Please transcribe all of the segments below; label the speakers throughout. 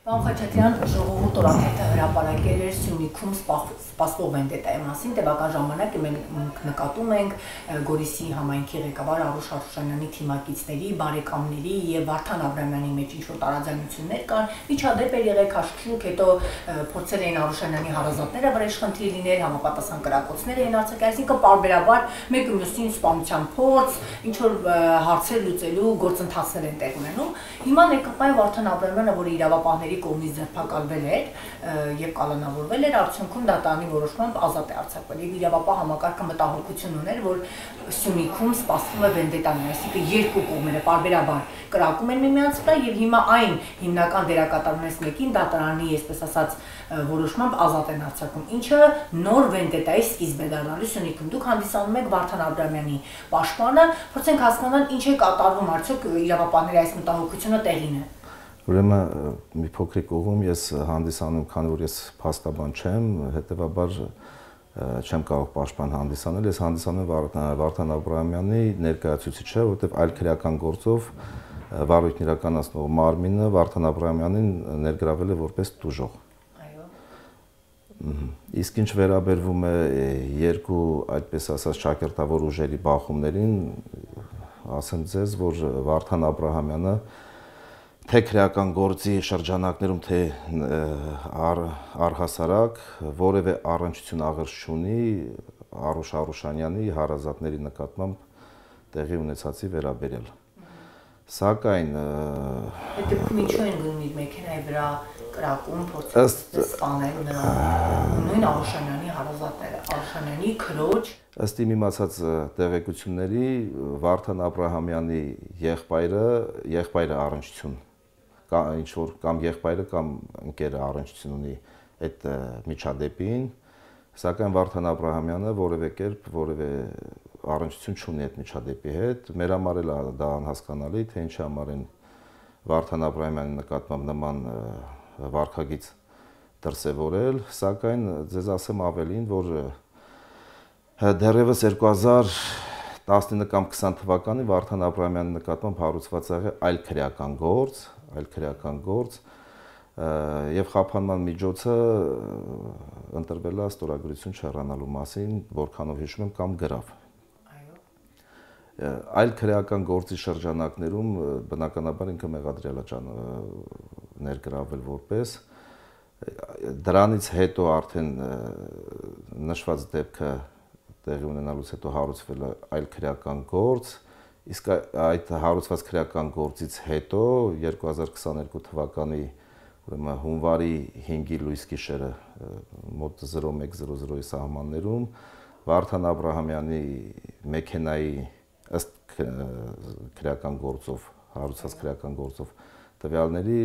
Speaker 1: Պարոն Խաչատրյան, ժողովուրդ օրաթերթը հրապարակել էր Սյունիքում սպասվող վենդետայի մասին, տևական ժամանակ մենք նկատում ենք Գորիսի համայնքի ղեկավար Արուշ Արուշանյանի թիմակիցների, բարեկամների եւ Վարդան Աբրամյանի մեջ ինչ-որ տարաձայնություններ կան, միջադեպ էր եղել քաշքշուկ, հետո փորձել էին Արուշանյանի հարազատները վրեժխնդիր լինել, համապատասխան կրակոցներ էին արձակել, այսինքն պարբերաբար մեկը մյուսին սպանության փորձ, ինչ որ հարցեր լուծելու գործընթացներ են տեղ ունենում։ Հիմա ներկայ Վարդան Աբրամյանը, որը իրավապահների կողմից ձերբակալվել էր եւ կալանավորվել էր, արդյունքում դատարանի որոշմամբ ազատ է արձակվել։ Եվ իրավապահ համակարգը մտահոգություն ուներ, որ Սյունիքում սպասվում է վենդետան, այսինքն երկու կողմերը պարբերաբար կրակում են միմյանց վրա եւ հիմա այն հիմնական դերակատարներից մեկին դատարանի, այսպես ասած, որոշմամբ ազատ են արձակում, ինչը նոր վենդետայի սկիզբ է դառնալու Սյունիքում։ Դուք հանդիսանում եք Վարդան Աբրամյանի պաշտպանը, փորձենք հասկանալ ինչ է կատարվում, արդյոք իրավապահների այս մտահոգությունը տեղին է։
Speaker 2: Ուրեմն մի փոքրիկ ուղում ես հանդիսանում, քանի որ ես փաստաբան չեմ, հետեւաբար չեմ կարող պաշտպան հանդիսանել, ես հանդիսանում եմ Վարդան Աբրամյանի ներկայացուցիչը, որովհետև այլ քրեական գործով վարույթն իրականացնող մարմինը Վարդան Աբրամյանին ներգրավել է որպես տուժող։
Speaker 1: Այո։
Speaker 2: Իսկ ինչ վերաբերվում է երկու, այդպես ասած, ճակերտավոր ուժերի բախումներին, ասեմ ձեզ, որ Վարդան Աբրամյանը թե քրեական գործի շրջանակներում, թե առհասարակ որևէ առնչություն աղերս չունի Արուշ Արուշանյանի հարազատների նկատմամբ տեղի ունեցածի վերաբերյալ։ Սակայն
Speaker 1: այդ դեպքում ինչու են գնում իր մեքենայի վրա կրակում, փորձում սպանել նրան, նույն Արուշանյանի հարազատները, Արուշանյանի քրոջ։
Speaker 2: Ըստ իմ իմացած տեղեկությունների Վարդան Աբրամյանի եղբայրը առնչություն ինչ որ կամ եղբայրը կամ ընկերը առնչություն ունի այդ միջադեպին, սակայն Վարդան Աբրամյանը որևէ կերպ որևէ առնչություն չունի այդ միջադեպի հետ։ Մեր համար էլ դա անհասկանալի, թե ինչի համար են Վարդան Աբրամյանի նկատմամբ նման վարքագիծ դրսևորել, սակայն ձեզ ասեմ ավելին, որ դեռևս 2019 կամ 20 թվականին Վարդան Աբրամյանի նկատմամբ հարուցված եղել այլ քրեական գործ եւ խափանման միջոցը ընտրվել է ստորագրություն չհեռանալու մասին, որքանով հիշում եմ, կամ գրավ։
Speaker 1: Այո։
Speaker 2: Այլ քրեական գործի շրջանակներում բնականաբար ինքը մեղադրյալ է ներգրավել որպես դրանից հետո արդեն նշված դեպքը տեղի ունենալուց հետո հարուցվել է այլ քրեական գործ, իսկ այդ հարուցված քրեական գործից հետո 2022 թվականի ուրեմն հունվարի 5-ի լույս գիշերը մոտ 01:00-ի սահմաններում Վարդան Աբրամյանի մեքենայի ըստ քրեական գործով, հարուցված քրեական գործով տվյալների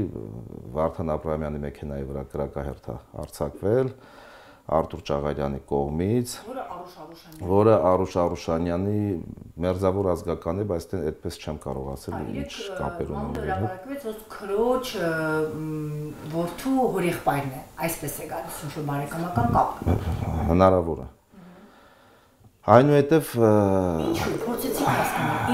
Speaker 2: Վարդան Աբրամյանի մեքենայի վրա կրակահերթ է արձակվել Արտուր Ճաղարյանի կողմից, որը Արուշ Արուշանյանի մերձավոր ազգական է, բայց այդպես չեմ կարող ասել, ինչ կապեր ունեն։
Speaker 1: Քրոջ որդու հորեղբայրն է, այսպես է գալիս ինչ-որ բարեկամական կապ։
Speaker 2: Հնարավոր է։ Այնուհետև
Speaker 1: ինչու փորձեցիք հասկանալ,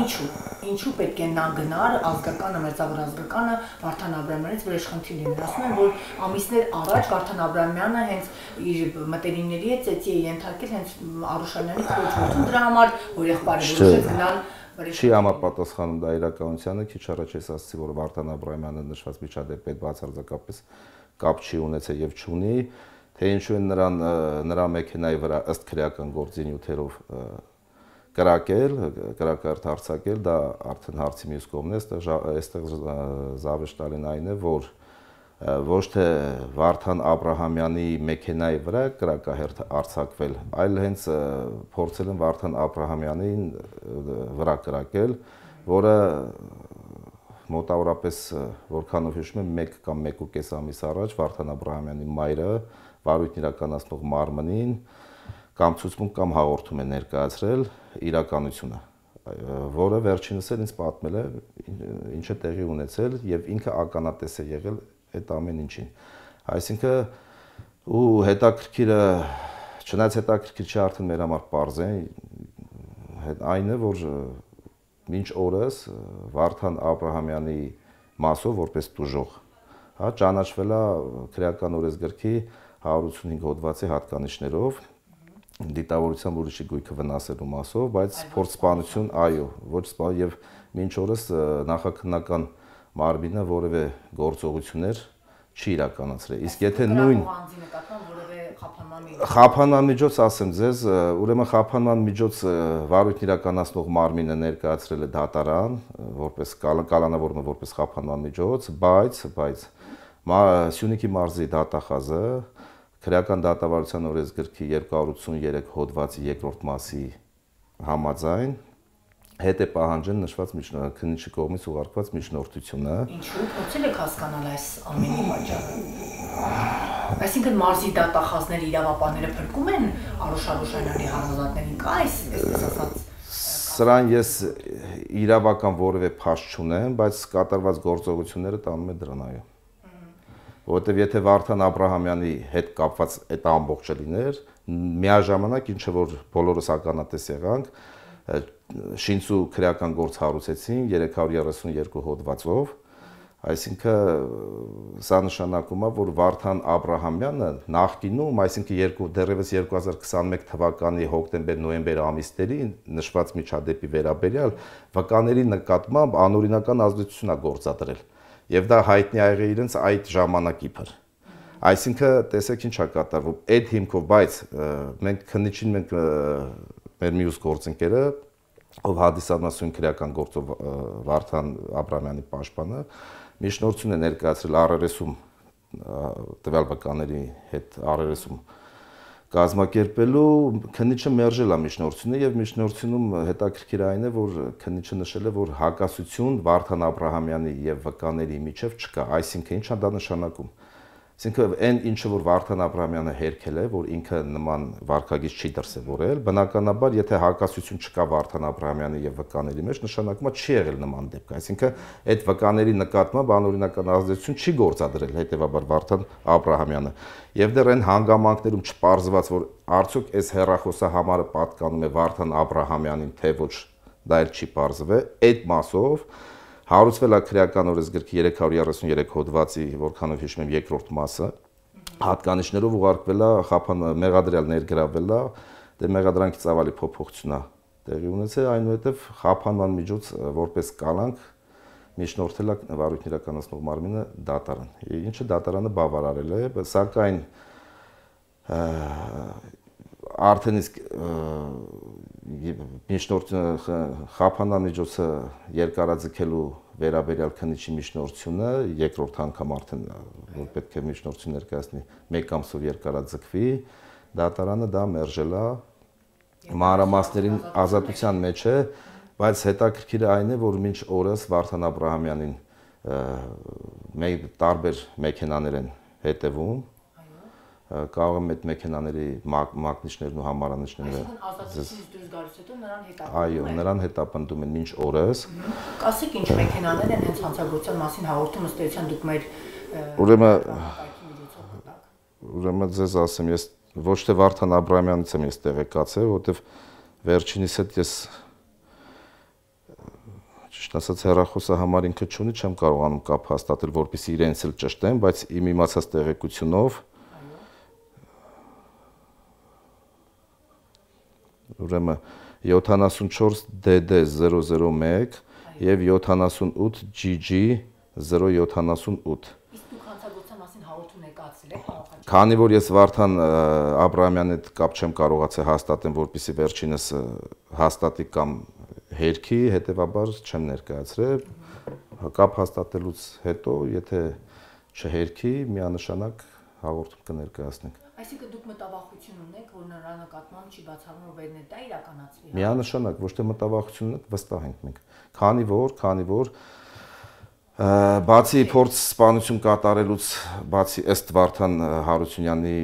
Speaker 1: ինչու պետք է նա գնար ազգականը, մերձավոր ազգականը Վարդան Աբրամյանից վրեժխնդիր լինել։ Ասում են, որ ամիսներ առաջ Վարդան Աբրամյանը հենց իր մտերիմների հետ ծեծի է ենթարկել հենց Արուշանյանի քրոջ որդուն, դրա համար հորեղբայրը որոշեց գնալ
Speaker 2: չի համապատասխանում դա իրականությանը, քիչ առաջ ես ասացի, որ Վարդան Աբրամյանը նշված միջադեպի հետ բացարձակապես կապ չի ունեցել եւ չունի, թե ինչու են նրա մեքենայի վրա ըստ քրեական գործի նյութերով կրակահերթ արձակել, դա արդեն հարցի մյուս կողմն է, այստեղ զավեշտալին այն է, որ ոչ թե Վարդան Աբրամյանի մեքենայի վրա կրակահերթ արձակվել, այլ հենց փորձել են Վարդան Աբրամյանին վրա կրակել, որը մոտավորապես որքանով հիշում եմ 1 կամ 1.5 ամիս առաջ Վարդան Աբրամյանի մայրը վարույթն իրականացնող մարմնին կամ ցուցմունք կամ հաղորդում է ներկայացրել իրականությունը, որը վերջինս էլ ինձ պատմել է ինչ է տեղի ունեցել եւ ինքը ականատես է եղել այդ ամեն ինչին։ Այսինքն ու հետաքրքիրը, չնայած հետաքրքիր չի արդեն մեր համար պարզ է, այն է, որ մինչ օրս Վարդան Աբրամյանի մասով որպես տուժող հա, ճանաչվել է քրեական օրենսգրքի 185 հոդվածի հատկանիշներով, դիտավորությամբ ուրիշի գույքը վնասելու մասով, բայց փորձսպանություն, այո, ոչ սպան եւ մինչ օրս նախաքննական մարմինը որևէ գործողություններ չի իրականացրել։ Իսկ եթե նույն խափանման միջոց ասեմ ձեզ, ուրեմն խափանման միջոց վարույթն իրականացնող մարմինը ներկայացրել է դատարան, որպես կալանավորումը որպես խափանման միջոց, բայց Սյունիքի մարզի դատախազը քրեական դատավարության օրենսգրքի 283 հոդվածի 2-րդ մասի համաձայն հետ է պահանջել նշված քննիչի կողմից ուղարկված միջնորդությունը։
Speaker 1: Ինչու՞ փորձել եք հասկանալ այս ամենի պատճառը։ Այսինքն մարզի դատախազների իրավապահները փրկում են Արուշ Արուշանյանի հարազատներին, կա այսպես ասած։
Speaker 2: Սրան ես իրավական որևէ փաստ չունեմ, բայց կատարված գործողությունները տանում է դրան, այո։ Որովհետև եթե Վարդան Աբրահամյանի հետ կապված այդ ամբողջը լիներ, միաժամանակ ինչը որ բոլորս ականատես եղանք, շինծու քրեական գործ հարուցեցին 332 հոդվածով, այսինքն սա նշանակում է, որ Վարդան Աբրահամյանը նախկինում, այսինքն դեռևս 2021 թվականի հոկտեմբեր-նոյեմբեր ամիսների նշված միջադեպի վերաբերյալ վկաների նկատմամբ անօրինական ազդեցություն է գործադրել, եւ դա հայտնի ա եղել իրենց այդ ժամանակի փր։ Այսինքն տեսեք ինչ է կատարվում, այդ հիմքով, բայց մենք քննիչին մեր մյուս գործընկերը, ով հանդիսանում է քրեական գործով Վարդան Աբրահամյանի պաշտպանը, միջնորդություն է ներկայացրել RRS-ում տվյալ վկաների հետ RRS-ում կազմակերպելու, քննիչը մերժել է միջնորդությունը եւ միջնորդությունում հետաքրքիր այն է, որ քննիչը նշել է, որ հակասություն Վարդան Աբրահամյանի եւ վկաների միջեւ չկա, այսինքն ի՞նչ է դա նշանակում։ Այսինքն այն ինչը որ Վարդան Աբրահամյանը հերքել է, որ ինքը նման վարքագիծ չի դրսևորել, բնականաբար եթե հակասություն չկա Վարդան Աբրահամյանի եւ վկաների մեջ, նշանակում է չի եղել նման դեպք, այսինքն այդ վկաների նկատմամբ անօրինական ազդեցություն չի գործադրել հետեւաբար Վարդան Աբրահամյանը։ Եվ դեռ այն հանգամանքներում չպարզված, որ արդյոք այս հեռախոսահամարը պատկանում է Վարդան Աբրահամյանին, թե ոչ, դա էլ չի պարզվել, այդ մասով հարուցվել է քրեական օրենսգրքի 333 հոդվածի, որքանով հիշում եմ, 2-րդ մասը, հատկանիշներով ուղարկվել է մեղադրյալ ներգրավել է, դե մեղադրանքի ծավալի փոփոխություն է տեղի ունեցել, այնուհետև խափանման միջոց որպես կալանք միջնորդել է վարույթն իրականացնող մարմինը դատարան, ինչը դատարանը բավարարել է, սակայն արդեն իսկ միջնորդությունը խափանման միջոցը երկարաձգելու վերաբերյալ քննիչի միջնորդությունը երկրորդ անգամ արդեն որ պետք է միջնորդություն ներկայացնի 1 ամսով երկարաձգվի, դատարանը դա մերժել է, մանրամասներին ազատության մեջ է, բայց հետաքրքիրը այն է, որ մինչ օրս Վարդան Աբրահամյանին տարբեր մեքենաներ են հետևում, կարող եմ այդ մեքենաների մակնիչներն ու համարանիչները
Speaker 1: ազատությունից դուրս գալուց հետո նրան հետապնդում են։
Speaker 2: Այո, նրան հետապնդում են մինչ օրս։
Speaker 1: Կասեք ինչ մեքենաներ են հենց հանցագործության մասին հաղորդում ըստ էության դուք մեր
Speaker 2: Ուրեմն ձեզ ասեմ, ես ոչ թե Վարդան Աբրահամյանից եմ ես տեղեկացել, որովհետև վերջինիս հետ ես ճիշտ ասած հեռախոսահամար ինքը չունի, չեմ կարողանում կապ հաստատել, որպեսզի իրենց էլ ճշտեմ, բայց իմ իմացած տեղեկությունով ուրեմն 74 DD001 եւ 78 GG 078
Speaker 1: Իսկ դուք հանցագործության մասին հաղորդում եկացել եք բավական։
Speaker 2: Քանի որ ես Վարդան Աբրահամյանի հետ կապ չեմ կարողացել հաստատեմ, որպեսզի վերջինս հաստատի կամ հերքի, հետեւաբար չեմ ներկայացրել, կապ հաստատելուց հետո, եթե չհերքի, միանշանակ հաղորդում կներկայացնենք։
Speaker 1: Այսինքն դուք մտավախություն ունեք, որ նրա նկատմամբ չի բացառվում վերնետա իրականացվի։
Speaker 2: Միանշանակ, ոչ թե մտավախություն ունենք, վստահ ենք մենք։ Քանի որ բացի փորձ սպանություն կատարելուց, բացի ըստ Վարդան Հարությունյանի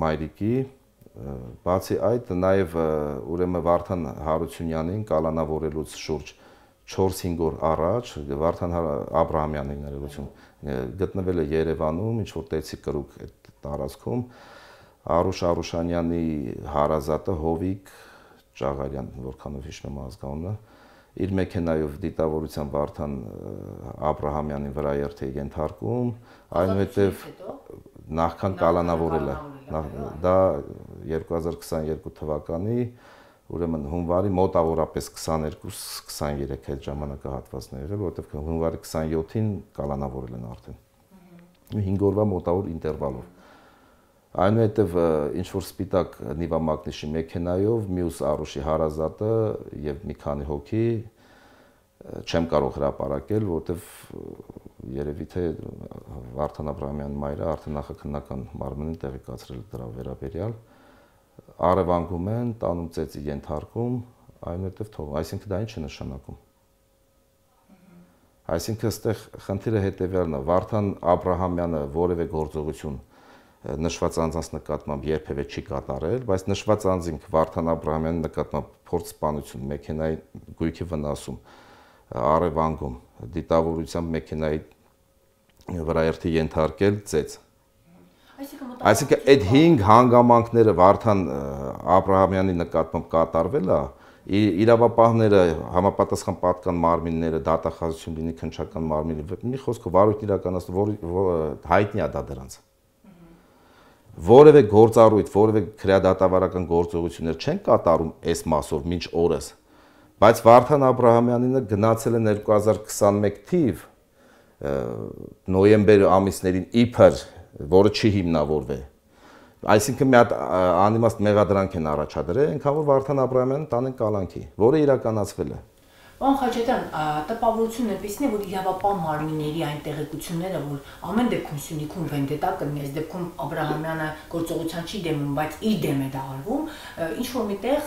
Speaker 2: մայրիկի, բացի այդ նաև ուրեմն Վարդան Հարությունյանին կալանավորելուց շուրջ 4-5 օր առաջ Վարդան Աբրահամյանին ներողություն գտնվել է Երևանում, ինչ որ տեցի կրուկ այդ տարածքում Արուշ Արուշանյանի հարազատը Հովիկ Ճաղարյան, որքանով հիշում եմ ազգանունը, իր մեքենայով դիտավորության Վարդան Աբրահամյանին վրա երթի ենթարկում, այնուհետև նախքան կալանավորել է։ Դա 2022 թվականի, ուրեմն հունվարի մոտավորապես 22-23 այդ ժամանակահատվածն է եղել, որովհետև հունվարի 27-ին կալանավորել են արդեն։ 5 օրվա մոտավոր ինտերվալով։ Այնուհետև ինչ-որ սպիտակ նիվամագնիշի մեքենայով մյուս առուշի հարազատը և մի քանի հոգի չեմ կարող հրապարակել, որովհետև երևի թե Վարդան Աբրահամյանի մայրը արդեն նախաքննական մարմնին տեղեկացրել դրա վերաբերյալ, առևանգում են, տանում ծեծի ենթարկում, այնուհետև թողում, այսինքն դա ինչ է նշանակում։ Այսինքն այստեղ խնդիրը հետևյալն է, Վարդան Աբրահամյանը որևէ գործողություն նշված անձանց նկատմամբ երբևէ չի կատարել, բայց նշված անձինք Վարդան Աբրահամյանի նկատմամբ փորձսպանություն, մեքենայի գույքի վնասում, առևանգում, դիտավորությամբ մեքենայի վրա երթի ենթարկել ծեծ։ Այսինքն այդ 5 հանգամանքները Վարդան Աբրահամյանի նկատմամբ կատարվել է, իրավապահները, համապատասխան պատկան մարմինները, դատախազություն լինի քննչական մարմինը, մի խոսքով վարույթ իրականացնում, հայտնի է դա դրանց։ Որևէ գործառույթ, որևէ քրեադատավարական գործողություններ չեն կատարում այս մասով մինչ օրս, բայց Վարդան Աբրահամյանինը գնացել է 2021 թիվ նոյեմբեր ամիսներին իբր, որը չի հիմնավորվել։ Այսինքն մի հատ անիմաստ մեղադրանք են առաջադրել, այնքան որ Վարդան Աբրահամյանին տանեն կալանքի, որը իրականացվել է։
Speaker 1: Պարոն Խաչատրյան, տպավորությունն էպիսն է, որ իրավապահ մարմինների այն տեղեկությունները, որ ամեն դեպքում Սյունիքում վենդետա կլինի, այս դեպքում Աբրահամյանը գործողության չի դեմում, բայց իր դեմ է դա արվում, ինչ որ միտեղ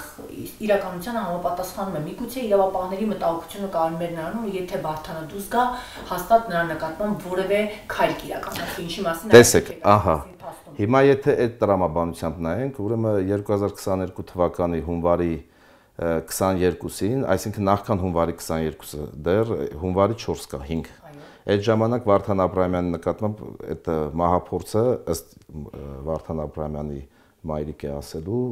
Speaker 1: իրականությանը համապատասխանում է։ Միգուցե իրավապահների մտահոգությունը կարմեր նրանում, եթե Վարդանը դուրս գա, հաստատ նրա նկատմամբ որևէ քայլ կիրականացվի, ինչի մասին
Speaker 2: տեսեք, ահա։ Հիմա եթե այդ տրամաբանությամբ նայենք, ուրեմն 2022 թվականի հունվարի 22-ին, այսինքն նախքան հունվարի 22-ը, դեռ հունվարի 4 կա 5։ Այդ ժամանակ Վարդան Աբրահամյանի նկատմամբ այդ մահափորձը ըստ Վարդան Աբրահամյանի մայրիկի ասելու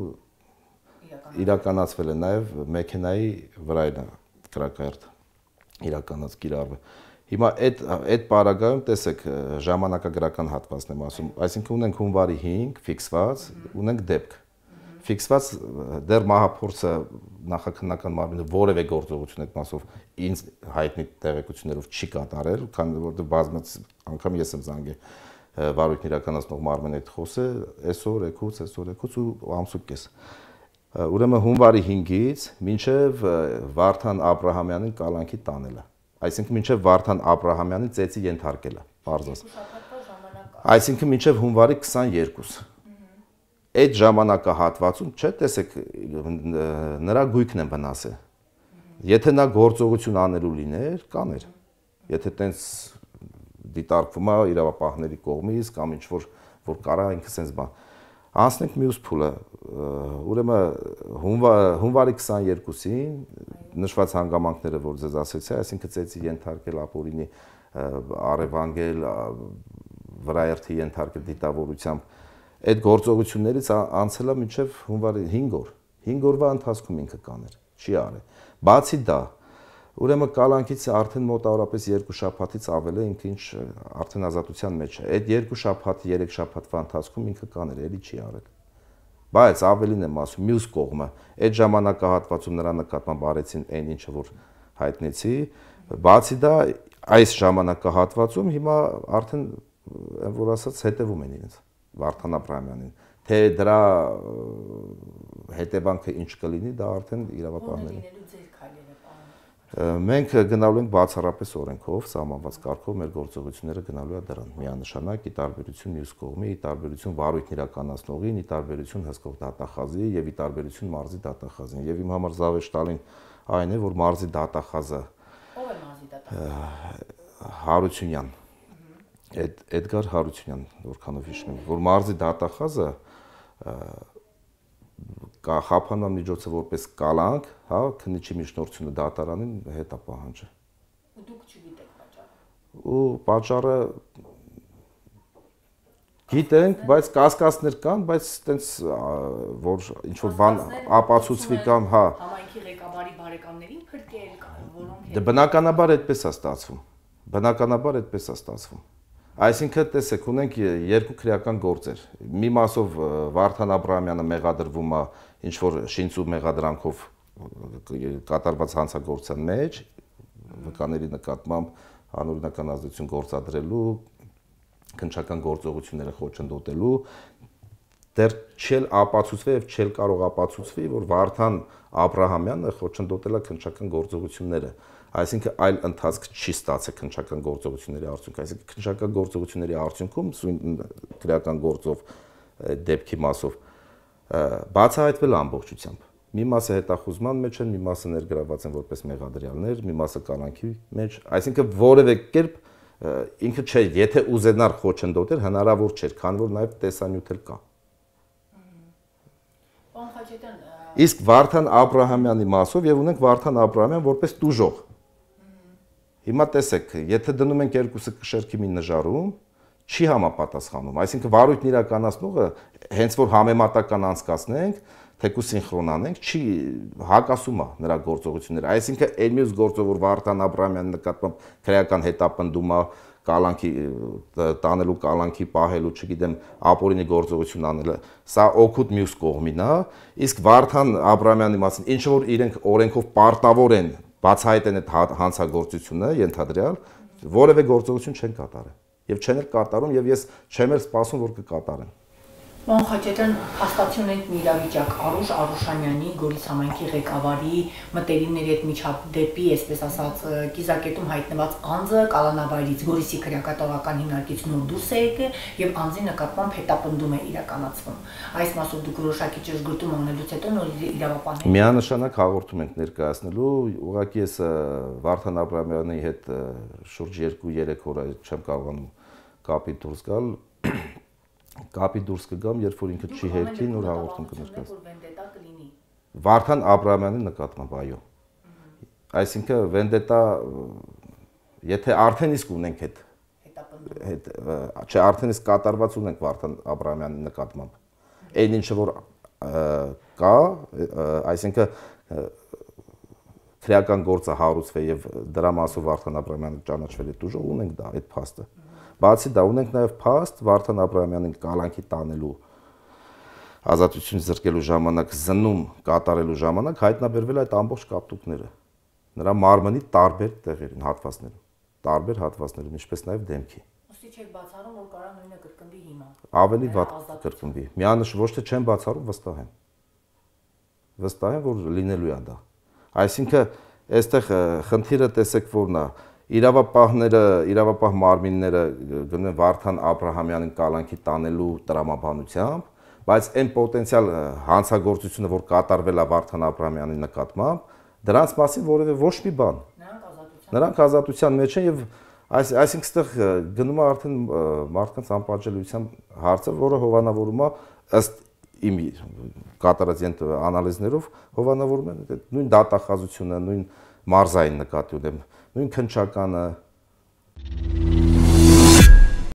Speaker 2: իրականացվել է նաև մեքենայի վրայնա կրակայրդ իրականաց կիրառվել։ Հիմա այդ պարագայում տեսեք ժամանակագրական հատվածն եմ ասում, այսինքն ունենք հունվարի 5 ֆիքսված, ունենք դեպք։ Ֆիքսված դեռ մահափորձը նախաքննական մարմինը որևէ գործողություն այդ մասով ինձ հայտնի տեղեկություններով չի կատարել, քանի որ բազմից անգամ ես եմ զանգել վարույթն իրականացնող մարմինի հետ խոսել, այսօր եկուց ու ամսուկես։ Ուրեմն հունվարի 5-ից մինչև Վարդան Աբրահամյանին կալանքի տանելը, այսինքն մինչև Վարդան Աբրահամյանին ծեծի ենթարկելը, բարձրաց։ Այսինքն մինչև հունվարի 22։ Այդ ժամանակահատվածում, չէ, տեսեք, նրա գույքն են վնասել։ Եթե նա գործողություն անելու լիներ, կաներ։ Եթե տենց դիտարկվում է իրավապահների կողմից կամ ինչ որ կարա ինքը սենց բան։ Անցնենք մյուս փուլը, ուրեմն հունվարի 22-ին նշված հանգամանքները, որ ձեզ ասեցի, այսինքն ծեծի ենթարկել ապօրինի առևանգել, վրայերթի ենթարկել դիտավորությամբ, այդ գործողություններից անցել է մինչև հունվարի 5 օր։ 5 օրվա ընթացքում ինքը կաներ, չի արել։ Բացի դա, ուրեմն կալանքից արդեն մոտավորապես 2 շաբաթից ավել է ինքը ինչ արդեն ազատության մեջ է։ Այդ 2 շաբաթ, 3 շաբաթվա ընթացքում ինքը կաներ, էլի չի արել։ Բայց ավելին եմ ասում, մյուս կողմը, այդ ժամանակահատվածում նրա նկատմամբ արեցին այն ինչը որ հայտնեցի, բացի դա այս ժամանակահատվածում հիմա արդեն որ ասած հետևում են իրենց Վարդան Աբրահամյանին, թե դրա հետևանքը ինչ կլինի, դա արդեն իրավապահների։ Մենք գնալու ենք բացառապես օրենքով, սահմանված կարգով մեր գործողությունները գնալու է դրան։ Միանշանակ ի տարբերություն մյուս կողմի, ի տարբերություն վարույթն իրականացնողին, ի տարբերություն հսկող դատախազի եւ ի տարբերություն մարզի դատախազին։ Եվ իմ համար զավեշ տալին այն է, որ մարզի դատախազը ով է մարզի դատախազը Հարությունյան Էդգար Հարությունյան, որքանով հիշում եմ, որ մարզի դատախազը խափանման միջոցը որպես կալանք, հա, քննիչի միջնորդությունը դատարանին հետ է պահանջը։ Ու դուք չգիտեք պատճառը։ Ու պատճառը գիտենք, բայց կասկածներ կան, բայց տենց որ ինչ որ բան ապացուցվի կամ, հա։ Համայնքի ղեկավարի բարեկամներին փրկել կամ Դե բնականաբար այդպես է ստացվում։ Բնականաբար այդպես է ստացվում։ Այսինքն տեսեք, ունենք երկու քրեական գործեր։ Մի մասով Վարդան Աբրահամյանը մեղադրվում է ինչ որ շինծու մեղադրանքով կատարված հանցագործության մեջ, վկաների նկատմամբ անօրինական ազդեցություն գործադրելու, քննչական գործողությունները խոչընդոտելու, դեռ չել ապացուցվել եւ չել կարող ապացուցվի, որ Վարդան Աբրահամյանը խոչընդոտել է քննչական գործողությունները, այսինքն այլ ընթացք չի ստացել քննչական գործողությունների արդյունքում, այսինքն քննչական գործողությունների արդյունքում սույն քրեական գործով դեպքի մասով բացահայտվել ամբողջությամբ։ Մի մասը հետախուզման մեջ են, մի մասը ներգրաված են որպես մեղադրյալներ, մի մասը կալանքի մեջ, այսինքն որևէ կերպ ինքը չէ, եթե ուզենար խոչընդոտել, հնարավոր չէր, քանի որ նաև տեսանյութ էլ կա։ Իսկ Վարդան Աբրահամյանի մասով եւ ունենք Վարդան Աբրահամյան որպես տուժող։ Հիմա տեսեք, եթե դնում ենք երկուսը կշերքի մի նժարում, չի համապատասխանում, այսինքն վարույթն իրականացնողը հենց որ համեմատական անցկացնենք, թեկուզ սինխրոնանենք, չի հակասում է նրա գործողությունները, այսինքն այլ մյուս գործով որ Վարդան Աբրահամյանի նկատմամբ քրեական հետապնդում է, կալանքի տանելու, կալանքի պահելու, չգիտեմ, ապօրինի գործողություն անելը, սա օգուտ մյուս կողմին է, իսկ Վարդան Աբրահամյանի մասին ինչ որ իրենք օրենքով պարտավոր են բացահայտեն այդ հանցագործությունը, ենթադրյալ, որևէ գործողություն չեն կատարել եւ չեն էլ կատարում եւ ես չեմ էլ սպասում որ կկատարեն։
Speaker 1: Պարոն Խաչատրյան, հաստատություն ենք մի իրավիճակ Արուշ Արուշանյանի Գորիս համայնքի ղեկավարի մտերիմների հետ միջադեպի, այսպես ասած, կիզակետում հայտնված անձը կալանավայրից Գորիսի քրեակատարական հիմնարկից նոր դուրս է եկել եւ անձի նկատմամբ հետապնդում է իրականացվում։ Այս մասով դուք որոշակի ճշգրտում ունենալուց հետո նոր իրավապահներ
Speaker 2: միանշանակ հաղորդում ենք ներկայացնելու, ուղղակի ես Վարդան Աբրահամյանի հետ շուրջ 2-3 օր չեմ կարողանում կապի դուրս գալ։ Կապի դուրս կգամ, երբ որ ինքը չի հերքի, նոր հաղորդում կներկայացնի։ Վարդան Աբրահամյանի նկատմամբ, այո։ Այսինքն վենդետա, եթե արդեն իսկ ունենք այդ, չէ, արդեն իսկ կատարված ունենք Վարդան Աբրահամյանի նկատմամբ, այն ինչը որ կա, այսինքն քրեական գործը հարուցվել եւ դրա մասով Վարդան Աբրահամյանը ճանաչվել է դժոխ, ունենք դա այդ փաստը։ Բացի դա ունենք նաև փաստ Վարդան Աբրահամյանին կալանքի տանելու ազատություն զրկելու ժամանակ զննում կատարելու ժամանակ հայտնաբերվել այդ ամբողջ կապտուկները նրա մարմնի տարբեր տեղերին, հատվածներում, ինչպես նաև դեմքի։
Speaker 1: Ոստի չեք բացառում, որ կարա նույնը կրկնվի հիմա։
Speaker 2: Ավելի վատ կրկնվի։ Միանշ ոչ թե չեմ բացառում, վստահ եմ։ Վստահ եմ, որ լինելու է դա։ Այսինքն, այստեղ խնդիրը տեսեք որն է, իրավապահ մարմինները գնում են Վարդան Աբրահամյանին կալանքի տանելու տրամաբանությամբ, բայց այն պոտենցիալ հանցագործությունը, որ կատարվել է Վարդան Աբրահամյանի նկատմամբ, դրանց մասին որևէ ոչ մի բան։ Նրանք ազատության մեջ են եւ այսինքն այստեղ գնում է արդեն մարդկանց անպատժելիության հարցը, որը հովանավորում է ըստ իմ կատարած անալիզներով հովանավորում են նույն դատախազությունը, նույն մարզային նկատի ունեմ, նույն քննչականը,